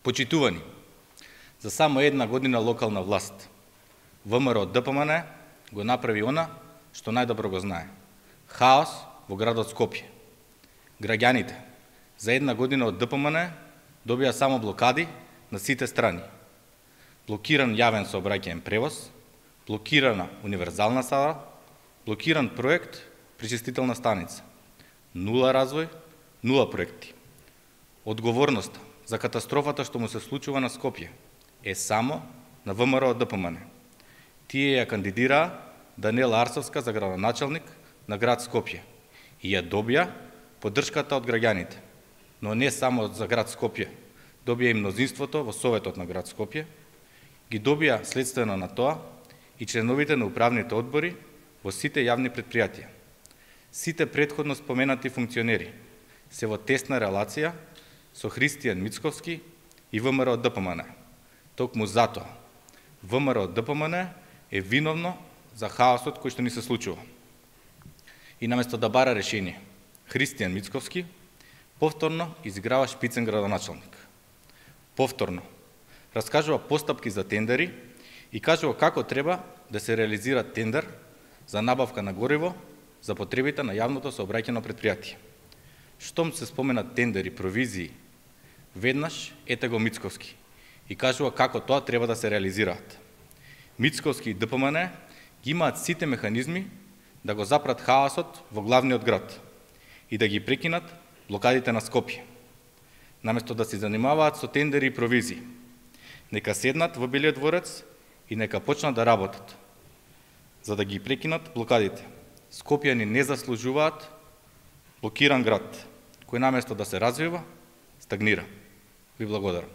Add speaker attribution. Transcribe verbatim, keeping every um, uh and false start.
Speaker 1: Почитувани, за само една година локална власт, ВМРО Д П М Н го направи она што најдобро го знае. Хаос во градот Скопје. Граѓаните за една година од Д П М Н добија само блокади на сите страни. Блокиран јавен сообраќајен превоз, блокирана универзална сала, блокиран проект пречистителна станица. Нула развој, нула проекти. Одговорноста за катастрофата што му се случува на Скопје е само на ВМРО Д П М Н. Тие ја кандидираа Даниела Арсовска за градоначалник на град Скопје и ја добија поддршката од граѓаните. Но не само за град Скопје, добија и мнозинството во Советот на град Скопје, ги добија следствено на тоа и членовите на управните одбори во сите јавни предпријатија. Сите претходно споменати функционери се во тесна релација со Христијан Мицковски и ВМРО Д П М Н. Токму затоа ВМРО Д П М Н е виновно за хаосот кој што ни се случува. И наместо да бара решение, Христијан Мицковски повторно изиграва шпицен градоначалник. Повторно раскажува постапки за тендери и кажува како треба да се реализира тендер за набавка на гориво за потребите на јавното сообраќајно предпријатие. Штом се споменат тендери, провизии, веднаш ете го Мицковски и кажува како тоа треба да се реализираат. Мицковски и Д П М Н ги имаат сите механизми да го запрат хаосот во главниот град и да ги прекинат блокадите на Скопје. Наместо да се занимаваат со тендери и провизии, нека седнат во Белиот дворец и нека почнат да работат, за да ги прекинат блокадите. Скопјани не заслужуваат блокиран град, кој наместо да се развива, стагнира. Ви благодарам.